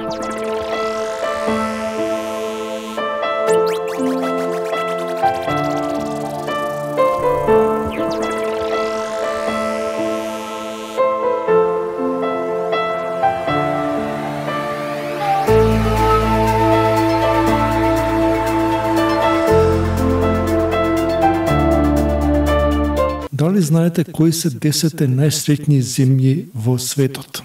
Дали знаете кои се 10 најсреќни земји во светот?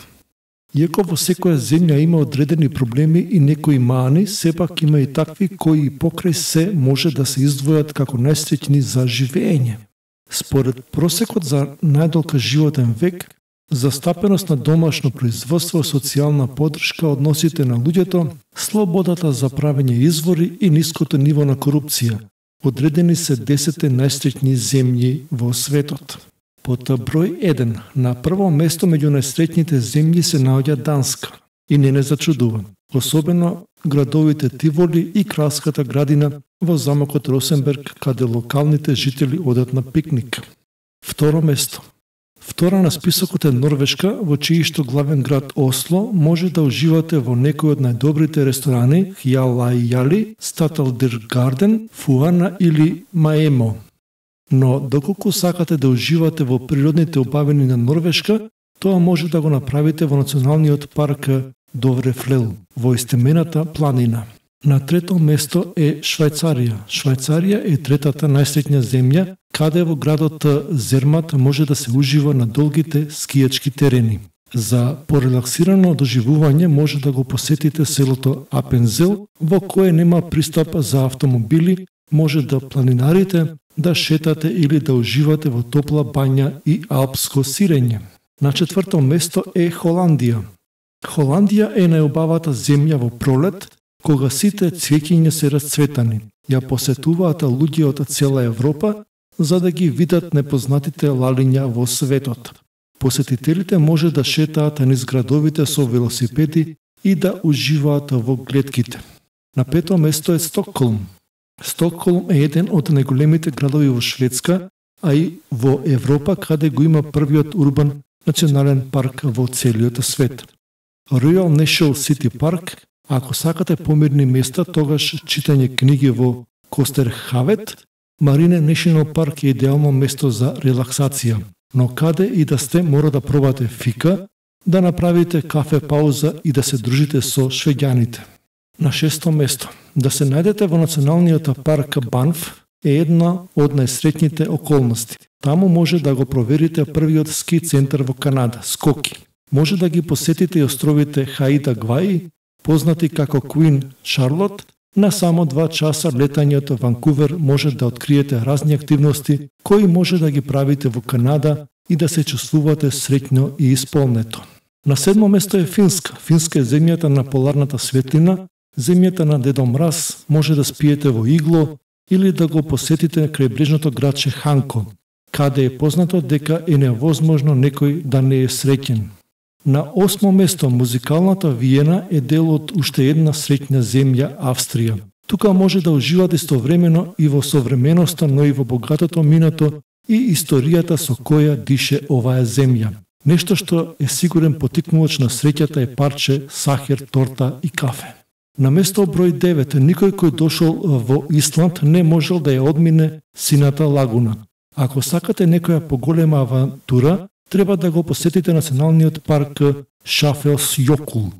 Иако во секоја земја има одредени проблеми и некои мани, сепак има и такви кои покрај се може да се издвојат како најсреќни за живење. Според просекот за најдолг животен век, застапеност на домашно производство, социјална поддршка, односите на луѓето, слободата за правење извори и ниското ниво на корупција, одредени се 10 најсреќни земји во светот. Под број 1, на прво место меѓу најсреќните земји се наоѓа Данска. И не зачудува, особено градовите Тиволи и Кралската градина во замокот Росенберг, каде локалните жители одат на пикник. Второ место. Втора на списокот е Норвешка, во чијшто главен град Осло може да уживате во некој од најдобрите ресторани Хјалајали, Статалдир Гарден, Фуана или Маемо. Но доколку сакате да уживате во природните убавини на Норвешка, тоа може да го направите во националниот парк Доврефлел, во истемената планина. На трето место е Швајцарија. Швајцарија е третата најсреќна земја, каде во градот Зермат може да се ужива на долгите скијачки терени. За порелаксирано доживување може да го посетите селото Апензел, во кое нема пристап за автомобили, може да планинарите, да шетате или да уживате во топла бања и алпско сирење. На четврто место е Холандија. Холандија е најубавата земја во пролет, кога сите цвеќиња се расцветани. Ја посетуваат луѓе од цела Европа, за да ги видат непознатите лалиња во светот. Посетителите може да шетаат низ градовите со велосипеди и да уживаат во глетките. На пето место е Стокхолм. Стокхолм е еден од најголемите градови во Шведска, а и во Европа, каде го има првиот урбан национален парк во целиот свет. Royal National City Park. Ако сакате помирни места, тогаш читање книги во Костерхавет, Марине National Park е идеално место за релаксација. Но каде и да сте, мора да пробате фика, да направите кафе пауза и да се дружите со швеѓаните. На шесто место. Да се најдете во националниот парк Банф е една од најсреќните околности. Таму може да го проверите првиот ски центар во Канада, Скоки. Може да ги посетите и островите Хаида Гваи, познати како Куин Шарлот. На само 2 часа летање од Ванкувер може да откриете разни активности кои може да ги правите во Канада и да се чувствувате среќно и исполнето. На седмо место е Финска. Финска е земјата на поларната светлина, земјата на Дедо Мраз, може да спиете во игло или да го посетите крајбрежното градче Ханко, каде е познато дека е невозможно некој да не е среќен. На 8 место, музикалната Виена е дел од уште една среќна земја, Австрија. Тука може да уживате истовремено и во современоста, но и во богатото минато и историјата со која дише оваа земја. Нешто што е сигурен потикнувач на среќата е парче сахар, торта и кафе. На место број 9, никој кој дошол во Исланд не можел да ја одмине Сината лагуна. Ако сакате некоја поголема авантура, треба да го посетите националниот парк Шафелсјокул,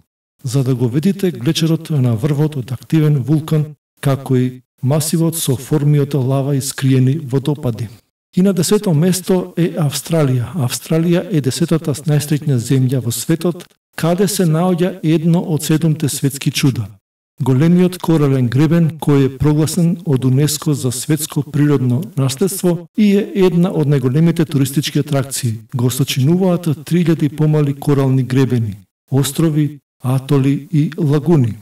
за да го видите глечерот на врвот од активен вулкан, како и масивот со форми од лава и скриени водопади. И на 10-то место е Австралија. Австралија е 10-та најсреќна земја во светот, каде се наоѓа едно од 7 светски чуда. Големиот корален гребен, кој е прогласен од УНЕСКО за светско природно наследство и е една од најголемите туристички атракции. Го сочинуваат 3000 помали корални гребени, острови, атоли и лагуни.